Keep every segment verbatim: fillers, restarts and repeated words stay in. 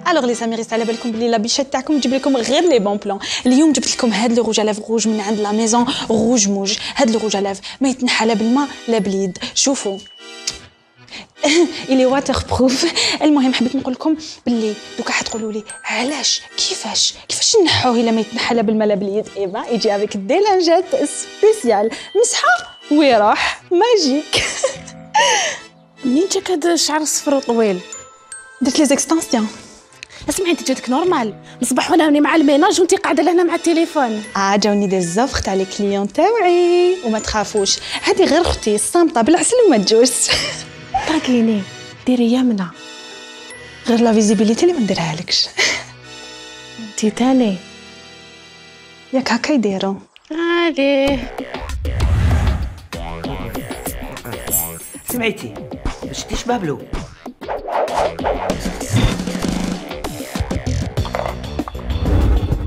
الوغ لي ساميريس على بالكم بلي لابيشات تاعكم نجيب لكم غير لي بون بلون. اليوم جبت لكم هاد لو روج على روج من عند لا ميزون روج موج. هاد لو روج على ما يتنحى لا بالماء لا باليد. شوفوا الي واتر بروف. المهم حبيت نقول لكم باللي دوكا حتقولوا لي علاش كيفاش كيفاش نحوه الا ما يتنحى لا بالماء لا باليد. ايبا يجي افيك دي لانجات سبيسيال مسحه ويروح ماجيك. منين جاك هذا الشعر الصفر وطويل؟ درت لي زيكستانسيون. اسمعي انت جاتك نورمال مصباح وانا راني مع الميناج وانت قاعده لهنا مع التليفون. اه جاوني دي زوفر تاع لي كليون تاوعي وما تخافوش هذه غير اختي الصامته بالعسل وما تجوز. تراكيني ديري يمنى غير لا فيزيبيليتي اللي ما نديرها لكش. انت تاني ياك هكا يديروا عليه. سمعتي باش تشبه بلو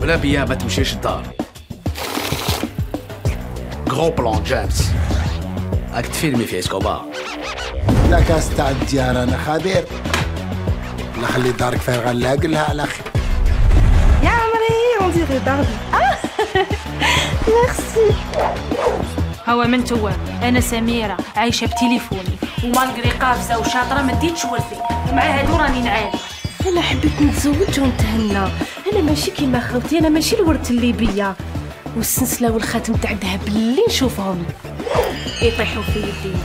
بلا بيا ما تمشيش الدار. غرو بلان جيمس راك تفيلمي في اسكوبار. لا كاس تاع الديار انا خبير. نخلي دارك فارغه نلاقلها على اخي. يا عمري اون ديري داربي. ميرسي. هو من توا انا سميره عايشه بتليفوني ومالغري قافزه وشاطره ما ديتش ورثي ومع هادو راني نعاني. انا حبيت نتزوج ونتهنى. انا ماشي كيما خالتي انا ماشي الورث الليبيه والسلسله والخاتم تاع الذهب اللي نشوفهم يطيحوا في يدي.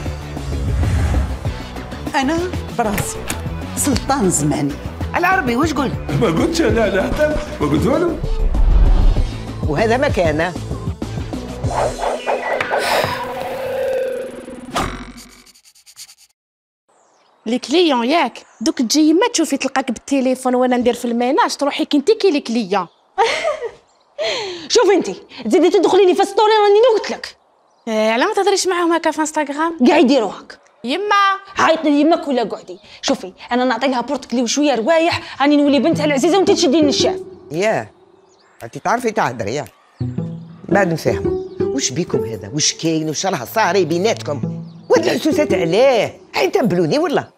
انا براسي سلطان زماني. العربي واش قلت؟ ما قلتش انا لا حتى ما قلت والو. وهذا مكانه. لي كليون ياك دوك تجي ما تشوفي تلقاك بالتليفون وانا ندير في الميناج تروحي كنتي كي لي كليون. شوفي انت تزيدي تدخلي لي في ستوري راني قلت لك. إيه على ما تهضريش معاهم هكا في انستغرام. كاع يديروا هكا. يما عيطي لي يماك ولا قعدي. شوفي انا نعطي لها بورتكلي وشويه روايح راني نولي بنتها العزيزه وانت تشديني الشاف. ياه انت تعرفي تهضري ياه بعد نفهموا واش بيكم هذا واش كاين واش راه صاري بيناتكم. وهاد العسوسات علاه حي تنبلوني ولا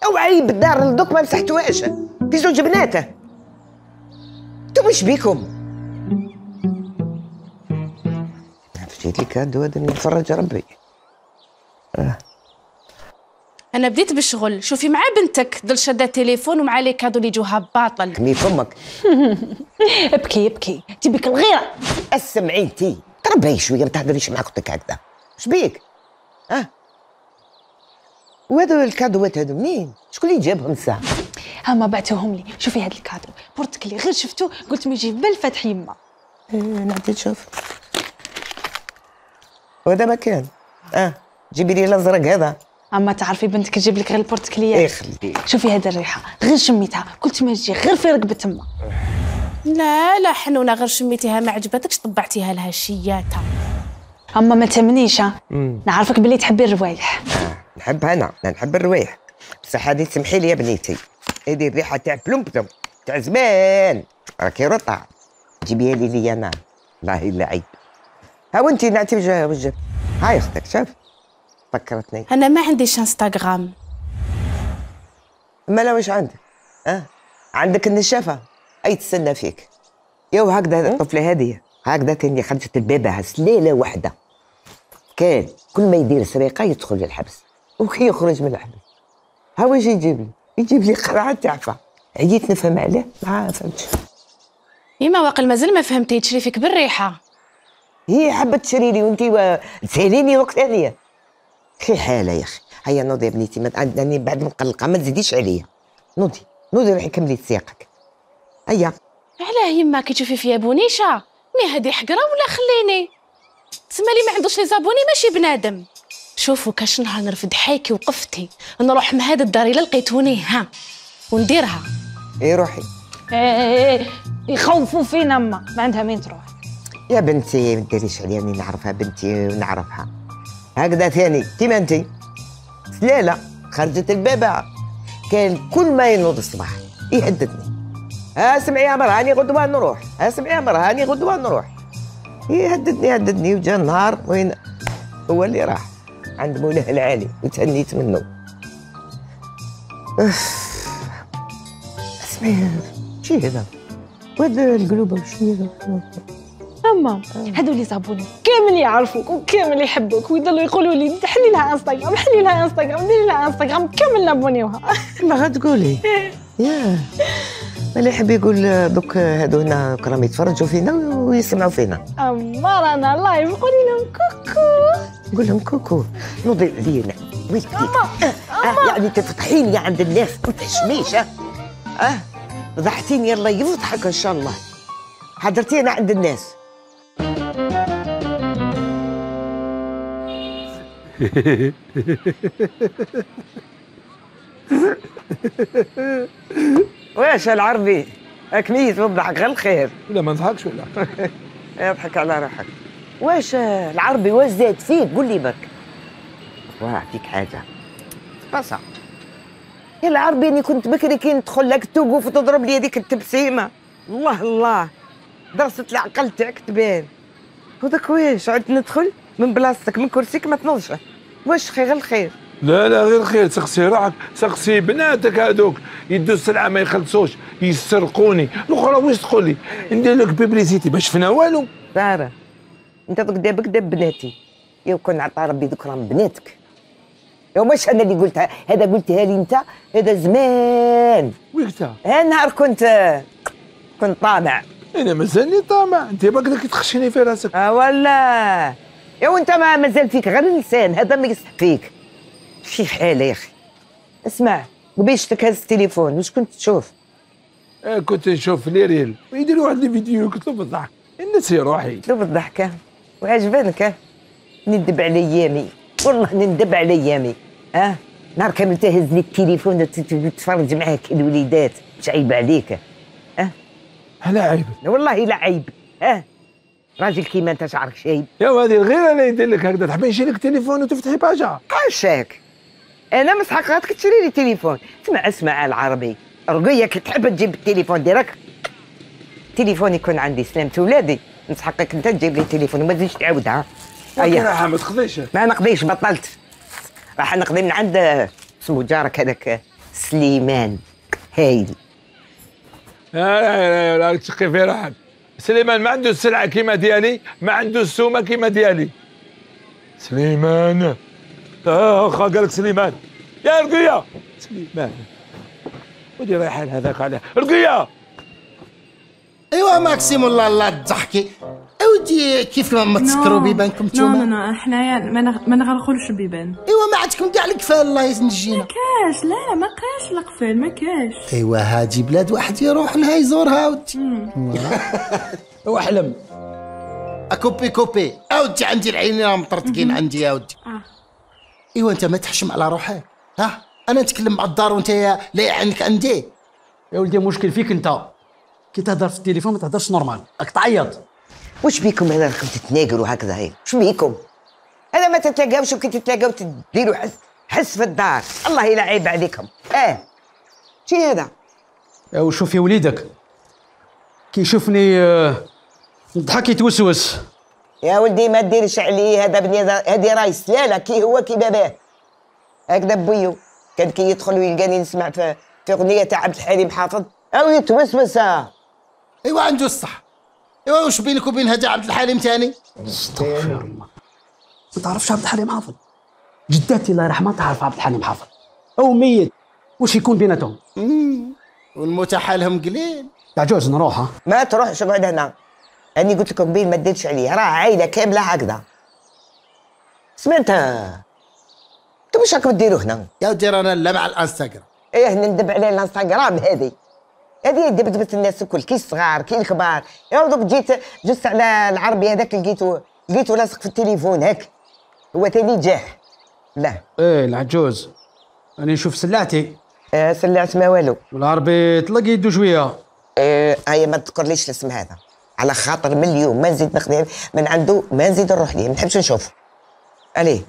اوعي بالدار لدوك ما مسحتوهاش في زوج بناته. انتم واش بيكم؟ جيت لك كادو هذا نتفرج ربي. آه. انا بديت بالشغل. شوفي مع بنتك ضل شاده التليفون ومع لي كادو اللي جوها باطل. كمي فمك. ابكي ابكي تبيك الغيره. اسمعي انتي تربعي شويه ما تهضريش مع اختك هكذا. اش بيك؟ اه وهذا الكادوات هذو منين؟ شكون اللي جابهم الساعه؟ هما بعتوهم لي. شوفي هذا الكادو بورتكلي غير شفتو قلت ما يجي في بال فتح يما. ايه نعطي نشوف. وهذا مكان. اه جيبي لي الازرق هذا. اما تعرفي بنتك تجيب لك غير البورتكليات. ايه خلي. شوفي هذا الريحه غير شميتها قلت ما تجي غير في رقبه تما. لا لا حنونه غير شميتيها ما عجبتكش طبعتيها لها شياتها. اما ما تمنيش نعرفك بلي تحبي الروايح. آه نحبها انا نحب الروايح بصح هذه سمحي لي يا بنيتي هذه الريحه تاع بلومبتم تاع زمان راكي رطع جيبيها لي لي انا والله الا عيب. ها وانتي نعطي وجه وجه. هاي اختك شوف فكرتني. انا ما عنديش انستغرام. ما لا واش عندك؟ اه عندك النشافه اي تستنى فيك. يو هكذا الطفله هذه هكذا تاني خرجت البابا سليله واحده كان كل ما يدير سرقه يدخل للحبس وكي يخرج من الحبس ها واش يجيب لي؟ يجيب لي قرعه تعفى. عييت نفهم عليه ما فهمتش. يما واقل مازال ما فهمتي تشري فيك بالريحه. هي حبت تشري لي وانت و... تساليني وقت ثانيه. خي حاله يا اخي. هيا نوضي يا بنيتي ما عندني بعد مقلقه ما تزيديش عليا. نوضي نوضي روحي كملي سياقك. هيا. علاه يما كي تشوفي فيا بونيشه مي هذه حقره ولا خليني تسمى لي ما عندوش لي زابوني ماشي بنادم. شوفوا كاش نهار نرفد حيكي وقفتي نروح من هذا الدار الا لقيتوني ها ونديرها. ايه روحي. ايه يخوفوا فينا اما ما عندها وين تروح. يا بنتي ما ديريش عليا راني نعرفها بنتي ونعرفها هكذا ثاني كيما انتي سلاله خرجت البابا كان كل ما ينوض الصباح يهددني. ها سمعي يا مرا هاني غدوه نروح. ها سمعي يا مرا هاني غدوه نروح. يهددني يهددني وجا النهار وين هو اللي راح عند مولاه العالي وتهنيت منه. اسمعي شي هذا وهذا القلوبه وشنو هذا؟ اما هادو لي زابوني كامل يعرفوك وكامل يحبوك ويضلوا يقولوا لي حلي لها انستغرام حلي لها انستغرام ديري لها انستغرام كامل نابونيوها. ما غتقولي ياه اللي يحب يقول دوك هادو هنا راهم يتفرجوا فينا ويسمعوا فينا. اما رانا لايف قولي لهم كوكو قول لهم كوكو نوضي عليا ويلك آه يعني تفتحي لي عند الناس ما تحشميش. اه اه ضحكتيني الله يفضحك ان شاء الله. حضرتينا عند الناس. واش العربي اكميت وضحك غير الخير. لا ما نضحكش ولا اضحك على روحك. واش العربي واش زاد فيك قول لي برك. واه فيك حاجه بصح يا العربي اني كنت بكري كي ندخل لك توقف وتضرب لي هذيك التبسيمه. الله الله درست العقل تاعك تبان. هذاك واش عاد ندخل من بلاصتك من كرسيك ما تنوضش. واش خير غير الخير. لا لا غير خير. سقسي روحك سقسي بناتك هذوك يدوا السلعه ما يخلصوش يسرقوني. الاخرى واش تقول لي ندير لك بيبليسيتي باش فينا والو. ساره انت قدامك قدام بناتي يا كون عطا ربي ذكرى بناتك. يا مش انا اللي قلتها هذا قلتها لي انت هذا زمان. وقتها نهار كنت كنت طامع. انا مازالني طامع انت باقي تخشيني في راسك. اه والله يا وانت ما مازال فيك غير اللسان هذا ما يصح فيك. شي حاله يا اخي. اسمع قبيشتك هز التليفون واش كنت تشوف؟ آه كنت نشوف لي ريل ويديروا واحد الفيديو قلت له بالضحك نسي روحي. قلت له بالضحكه وعجبانك. ندب على ايامي والله ندب على ايامي. اه نهار كامل تهز لي التليفون وتتفرج معاك الوليدات مش عيب عليك. اه لا عيب والله لا عيب. اه راجل كيما انت شعرك شايب. يا هذه الغيره اللي يدير لك هكذا تحبي يجي لك تليفون وتفتحي باجا. عشاك انا مسحقاتك تشري لي تليفون. اسمع اسمع العربي رقيه كي تحب تجيب التليفون ديرك تليفون يكون عندي سلامة ولادي نسحقك انت تجيب لي تليفون وما تزيدش تعاودها. اييه راح ما تقضيش. ما نقضيش بطلت. راح نقضي من عند اسمه جارك هذاك سليمان هايل. لا لا لا تشقي في روحك. سليمان ما عنده السلعه كيما ديالي ما عنده السومه كيما ديالي. سليمان اه قال لك سليمان يا رقيه سليمان ودي رايحه هذاك عليه رقيه. ايوا ماكسيم والله الله تضحكي. اودي كيف ما تسكروا بيبانكم نتوما. نو نو حنايا ما نغلقولش البيبان. ايوا ما عندكم كاع القفال الله ينجينا. ما كاش لا ما كاش القفال ما كاش. ايوا هادي بلاد واحد يروح لها يزورها اودي. واحلم اكوبي كوبي اودي عندي العينين راهم مطرطقين عندي اودي. ايوا انت ما تحشم على روحك. ها انا نتكلم مع الدار وانت لا يعنيك عندي. يا ولدي مشكل فيك انت كي تهضر في التليفون ما تهضرش نورمال راك تعيط. واش بيكم هذا راكم تتناقروا هكذا هي واش بيكم؟ هذا ما تتلاقاوش وكي تتلاقاو تديروا حس حس في الدار. الله يلا عيب عليكم. اه شي هذا؟ وشوف يا وليدك كي يشوفني نضحك يتوسوس. يا ولدي ما ديرش عليه هذا بني هذه راهي سلاله كي هو كي باباه. هكذا بويو كان كي يدخل ويلقاني نسمع في في اغنيه تاع عبد الحليم حافظ او يتوسوس. ايوا عنده الصح. ايوا واش بينك وبين هذا عبد الحليم ثاني؟ استغفر الله. ما تعرفش عبد الحليم حافظ؟ جداتي الله يرحمها تعرف عبد الحليم حافظ او ميت واش يكون بيناتهم؟ والموت حالهم قليل. تعجوز نروح. ها ما تروحش اقعد هنا. اني قلت لكم بين ما ديرش عليه راه عائله كامله هكذا. سمعت انتم واش راكم ديروا هنا؟ يا ودي رانا لا مع الانستغرام. ايه ندب على الانستغرام هذه هذه دبدبت الناس الكل كي الصغار كي الكبار. يا دوك جيت جست على العربي هذاك لقيتو لقيتو لاصق في التليفون هاك هو ثاني جاح. لا ايه العجوز انا نشوف سلعتي. آه سلعت ما والو. والعربي طلق يدو شويه. ايه هيا ما تذكرليش الاسم هذا على خاطر من اليوم ما نزيد نخدم من عنده ما نزيد نروح ليه ما نحبش نشوف. عليه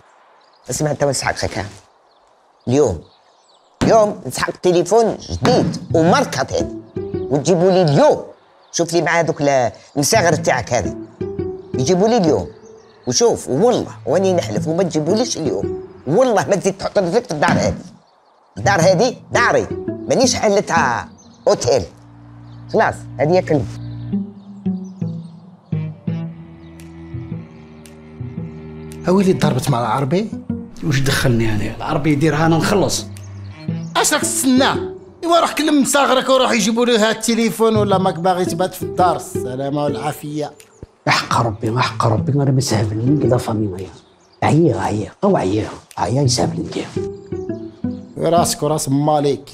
اسمع انت ونسحق خير اليوم اليوم نسحق تليفون جديد وماركات هذه وتجيبوا لي اليوم. شوف لي مع هذوك المساغر تاعك هذه يجيبوا لي اليوم وشوف والله واني نحلف وما تجيبوليش اليوم والله ما تزيد تحط رجلك في الدار هذه. الدار هذه داري مانيش حلتها اوتيل. خلاص هذه كلمة. هاويلي ضربت مع العربي. واش دخلني هذا العربي يديرها انا نخلص. اش راك تستنى؟ ايوا روح كلم صاغرك وروح يجيبوا له هذا التليفون، ولا ماك باغي تبات في الدار. السلامه والعافيه. حق ربي ما حق ربي انا ما ساهبلني كذا فامي. عيا عيا او عيا عيا يساهبلني راسك وراس مالك.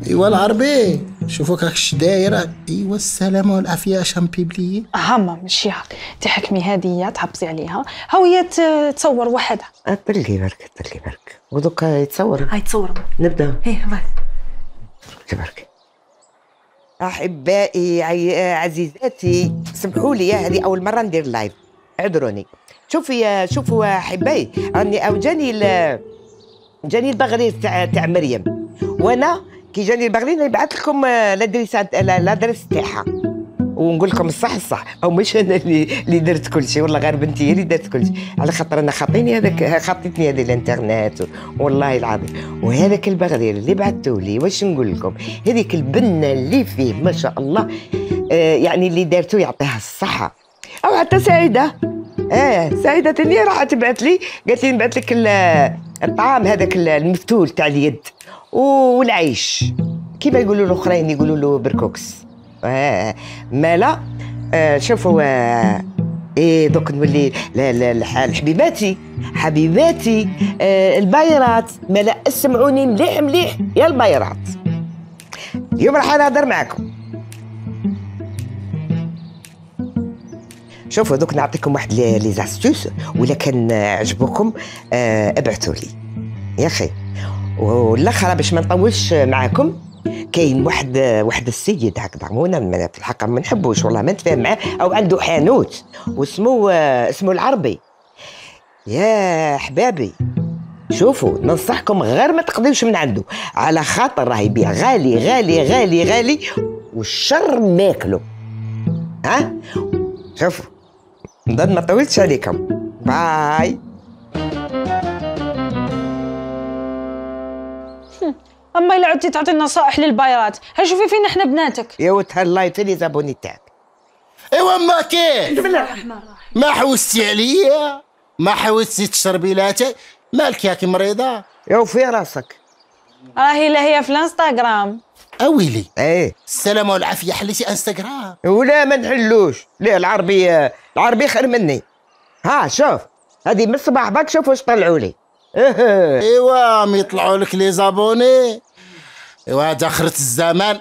ايوا العربي شوفوك راكش دايره. ايوا السلامه والعافيه شام بيبلي. هما ماشي هاك، انت حكمي هديه تحبسي عليها، ها هي تصور وحدها. طلقي برك طلقي برك ودوك يتصور. هاي تصور. نبدا. ايه باي. تبارك. احبائي عزيزاتي سمحوا لي، هذه اول مره ندير لايف، اعذروني. شوفي شوفوا احبائي، راني او جاني جاني البغرير تاع تاع مريم، وانا كي جاني البغرير نبعث لكم لادريس لادريس تاعها ونقول لكم الصح الصح، او مش انا اللي اللي درت كل شيء، والله غير بنتي هي اللي درت كل شيء، على خاطر انا خاطيني هذاك خاطيتني هذه الانترنت والله العظيم. وهذاك البغرير اللي بعثتوا لي واش نقول لكم، هذيك البنه اللي فيه ما شاء الله، آه يعني اللي دارتو يعطيها الصحه. او حتى سعيده، اه سعيده تاني راح تبعث لي قالت لي نبعث لك الطعام هذاك المفتول تاع اليد والعيش كيما يقولوا الاخرين، يقولوا له بركوكس. آه مالا. آه شوفوا آه ايه دوك نولي حبيباتي حبيباتي آه البايرات. مالا اسمعوني مليح مليح يا البايرات، اليوم راح نهضر معكم. شوفوا دوك نعطيكم واحد لي زاستوس، ولا كان عجبوكم آه ابعثوا لي يا اخي. والاخر باش ما نطولش معاكم، كاين واحد واحد السيد هكذا، مو انا في الحق ما نحبوش والله، ما نتفاهم معاه، او عنده حانوت واسمه اسمه العربي. يا احبابي شوفوا ننصحكم غير ما تقضيوش من عنده، على خاطر راه يبيع غالي غالي غالي غالي والشر ماكله. ها شوفوا نضل ما طولتش عليكم. باي. اما الا عدتي تعطي نصائح للبايرات، ها شوفي فينا احنا بناتك. يا وتهلاي تاني زابوني تاعك. ايوا ما كاين. بسم الله الرحمن الرحيم. ما حوستي عليا، ما حوستي تشربي لاتاي، مالك ياكي مريضه؟ يا وفي راسك راهي لا هي في الانستغرام. اويلي. ايه السلامه والعافيه. حليتي انستغرام؟ ولا ما نحلوش. لا العربي العربي خير مني. ها شوف هذه من الصباح باك شوف واش طلعوا لي. ايوا ما يطلعوا لك لي زابوني. ايوا هذا اخرة الزمان.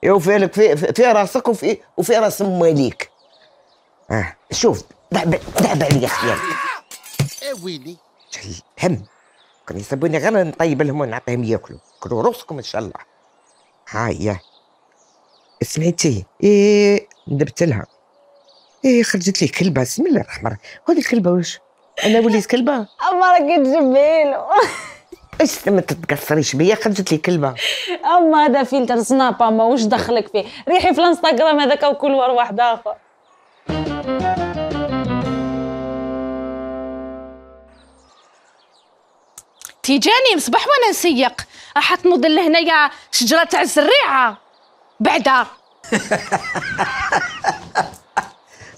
يا فيلك في في راسك وفي وفي راس ماليك. اه شوف دعب دعب عليا خيالك. ايه ويلي هم كان يسبوني غير نطيب لهم ونعطيهم ياكلوا، كلوا روسكم ان شاء الله. هاي سمعتي؟ ايه ندبت لها. ايه خرجت لي كلبه. بسم الله الرحمن الرحيم. هذه الكلبه واش؟ انا وليت كلبه؟ اما راك تجبيلو. ايش ما تتقصريش بيا، خرجت لي كلبه. اما هذا فلتر سناب، اما واش دخلك فيه؟ ريحي في الانستغرام هذاك وكل ور واحد اخر. تيجاني مصباح وانا نسيق، راح تنوض لهنايا شجره تاع الزريعه بعدا.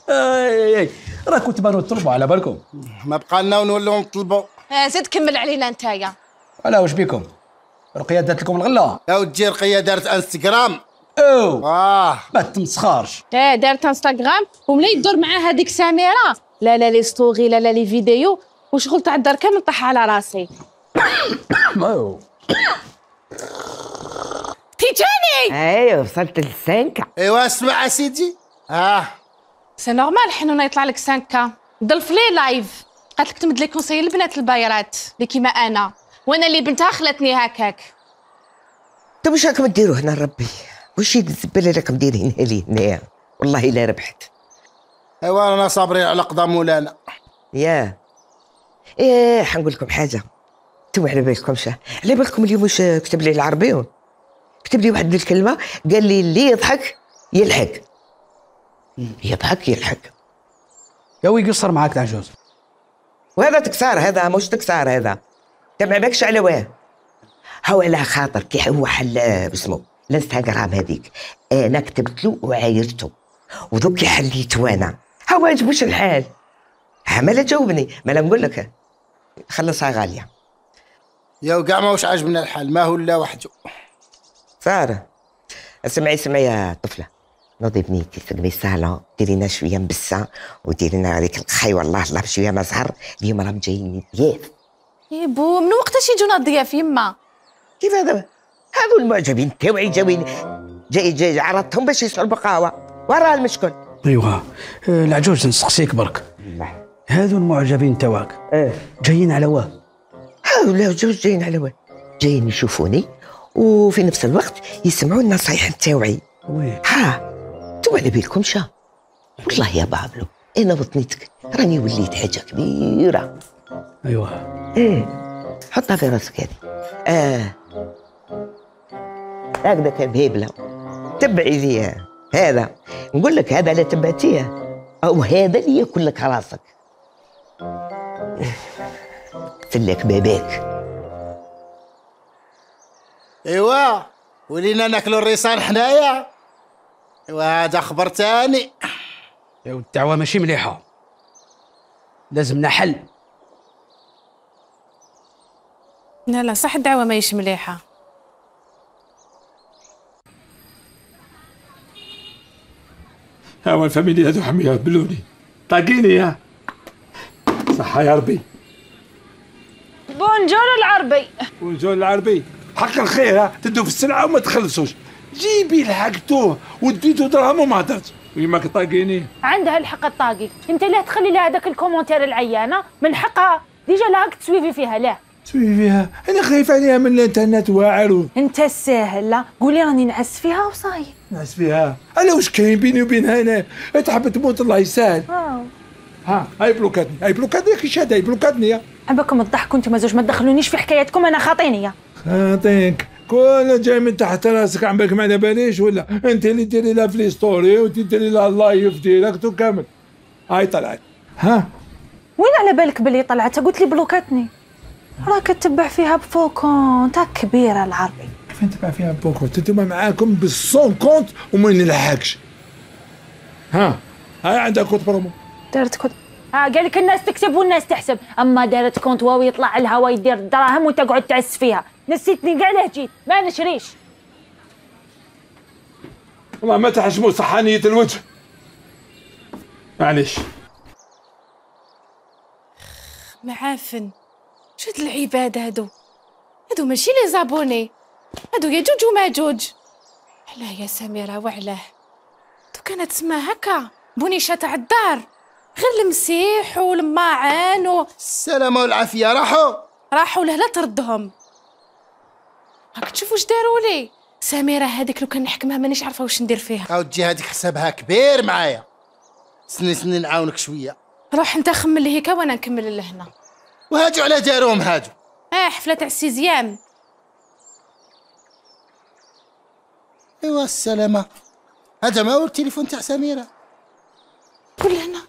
اي اي راه كنت بانو نطلبوا على بالكم. ما بقى لنا ونولوا نطلبوا. آه زيد كمل علينا نتايا. علاه واش بيكم؟ رقيه دارت لكم الغله. يا ودي رقيه دارت انستغرام. او اه ما تمسخرش. اه دارت انستغرام وملا يدور معاها هذيك سميره. لا لا لي ستوري لا لا لي فيديو وشغل تاع الدار كامل طاح على راسي. ما تيجاني. ايوه وصلت للسانكا. ايوا اسمع سيدي. اه سي نورمال حنونه يطلع لك خمسة كا. ضل لي لايف قالت لك تمد لي كونساي البنات البايرات اللي كيما انا، وانا اللي بنتها خلاتني هكاك. طيب واش راكم ديروا هنا ربي؟ واش الزباله راكم دايرين لي هنايا؟ والله الا ربحت. ايوا انا صابرين على قضا مولانا. ياه ايه حنقول لكم حاجه، انتم على بالكمش على بالكم اليوم واش كتب لي العربي؟ كتب لي واحد الكلمه قال لي اللي يضحك يلحق. يضحك يلحق. يا وي قصر معاك تاع جوز. وهذا تكسار، هذا مش تكسار، هذا انت ما بالكش على واه. هو على خاطر كي هو حل باسمو الانستغرام هذيك انا كتبت له وعايرته ودوك حليت وانا هو ما عجبوش الحال. ها ما لا جاوبني ما لا نقول لك خلصها غاليه. يا وكاع ما واش عاجبنا الحال ما هو لا وحده. ساره اسمعي اسمعي يا طفله نوضي بنيتي تقبي صالون ديري لنا شويه مبسه وديري لنا هذيك الخي والله الله بشويه ما زهر اليوم راهم جايين ضياف. يا بو من وقتاش يجونا الضياف يما؟ كيف هذا؟ هذو المعجبين تاوعي جاوين جاي جاي عرضتهم باش يسعوا البقاوه وراه المشكل. ايوه العجوز نسقسيك برك هذو المعجبين تواك اه جايين على واه؟ هاو لا جوج جايين على واه جايين يشوفوني وفي نفس الوقت يسمعوا النصايح تاوعي. وي ها انتم على بالكمش والله يا بابلو انا بطنيتك راني وليت حاجه كبيره. ايوه ايه حطها في راسك هذه. اه هكذا كان بهبله تبعي ليها هذا نقول لك هذا لا تبعتيه او هذا اللي ياكل لك راسك. سلك باباك. ايوا ولينا ناكلوا الريصان حنايا. ايوا هذا خبر ثاني. يا الدعوه ماشي مليحه لازمنا حل. لا لا صح الدعوه ماهيش مليحه. هاو الفاميلي هذو حمية بلوني طاقيني يا صحة يا ربي. بونجور العربي. بونجور العربي حق الخير ها تدو في السلعة وما تخلصوش. جيبي لحقتوه وديتو دراهم وما هدرتش ويماك طاقيني. عندها الحق الطاقي. انت ليه تخلي لها هذاك الكومونتير العيانه من حقها ديجا لها تسويفي فيها. لا تسوي فيها انا خايف عليها من الانترنت واعر. انت الساهل لا قولي راني نعس فيها وصاي نعس فيها. انا واش كاين بيني وبينها انا تحب تموت الله يسهل. اه ها هاي بلوكاتني هاي بلوكاتني كي شاد هاي بلوكاتني. عباكم تضحكوا انتم زوج ما تدخلونيش في حكاياتكم انا خاطيني. خاطينك كل جاي من تحت راسك عم بالك ما على باليش ولا انت اللي ديري لها في لي ستوري وانت ديري لها اللايف ديريكت وكامل. هاي طلعت. ها وين على بالك بلي طلعت؟ قلت لي بلوكاتني راك تتبع فيها بفوكون تاع كبيره العربي. كيف نتبع فيها بفوكون؟ انتوما معاكم بالسون كونت وما نلحقش. ها هاي عندها كود برومو. دارت كود ها قال لك الناس تكتب والناس تحسب. اما دارت كونت واو يطلع الهوا يدير الدراهم وتقعد تعس فيها. نسيتني كاع ليه جيت ما نشريش. والله ما تحشموا صحانية الوجه معليش. معافن شد العباد هادو هادو ماشي لي زابوني هادو ياجوج وماجوج. علاه يا سميرة وعلاه تو كانت تسمى هكا بونيشة تاع الدار غير المسيح والماعن و السلامة والعافية راحوا راحوا له لا تردهم. هاك تشوفوا واش داروا لي سميرة هذيك لو كان نحكمها مانيش عارفة واش ندير فيها. او تجي هذيك حسابها كبير معايا. سني سني نعاونك شوية. روح انت خمل لي هيكا وانا نكمل لهنا. وهاجوا على داروهم هاجوا. اه حفلة تاع السيزيام. ايوا السلامة. هذا ما هو التليفون تاع سميرة. قول هنا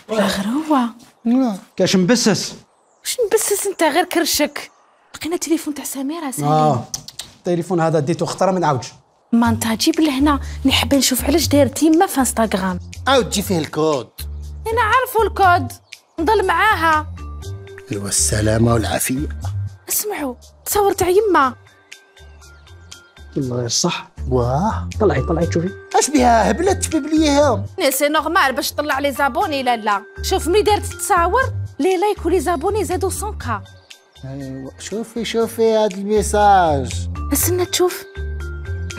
لا غير هو كاش مبسس. واش نبسس انت غير كرشك. لقينا تليفون تاع سميرة سالي. اه التليفون هذا ديتو خطره ما نعاودش. ما انت جيب لهنا نحب نشوف علاش داير تيما في انستغرام. او تجي فيه الكود. انا عارفو الكود نضل معاها. ايوا السلامة والعافية. اسمعوا تصور تاع يما. والله صح. واه طلعي طلعي تشوفي. اش بها هبلت ببليها. سي نورمال باش تطلع لي زابوني. لا لا شوف ملي دارت تصاور لي لايك ولي زابوني زادوا مية كا. ايوا شوفي شوفي هذا الميساج. استنى تشوف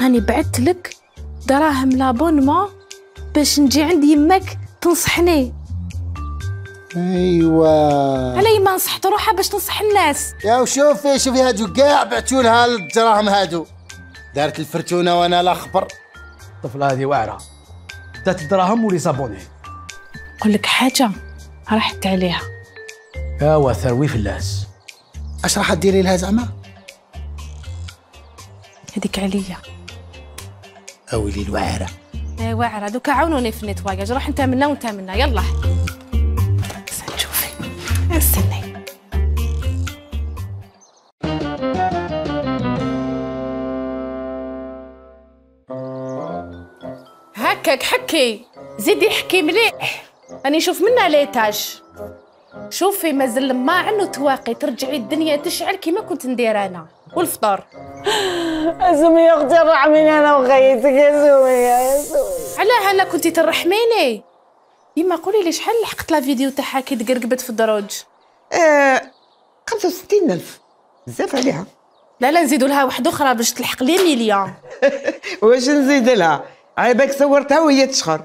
راني بعثت لك دراهم لابونمون باش نجي عند يماك تنصحني. ايوا على ما نصحت روحها باش تنصح الناس. يا وشوفي شوفي هادو كاع بعتوا لها الدراهم هادو. دارت الفرتونه وانا لا خبر. الطفله هذه واعره دات الدراهم ولي زابوني. نقول لك حاجه راحت عليها. اوا ثروي فلاس. اش راح ديري لها زعما؟ هذيك عليا. اويلي الوعره. اي واعره دوكا عاونوني في النيتواياج. روح انت منا وانت منا يلا. نشوفي استني هكاك حكي زيدي حكي مليح راني نشوف منها ليتاج. شوفي مازال ما انه تواقي ترجعي الدنيا تشعل كيما كنت ندير انا. والفطور سمية يا اختي رحميني انا وخيتك يا سمية يا سمية. علاه انا كنتي ترحميني؟ ديما قولي لي شحال لحقت لا فيديو تاعها كي تقرقبت في الدروج؟ آه خمسة وستين ألف بزاف عليها. لا لا نزيدوا لها واحده اخرى باش تلحق لي مليون. واش نزيد لها؟ على بالك صورتها وهي تشخر.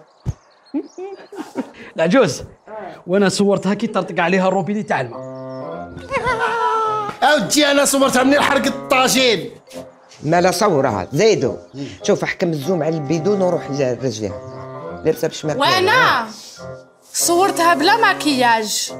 العجوز وانا صورتها كي طرطق عليها الروبيني تاع الماء. اودي انا صورتها من حرق الطاجين. مالا صورها زيدو. شوف احكم الزوم على البيدون وروح لرجليها لابسه بشماك. وانا صورتها بلا ماكياج.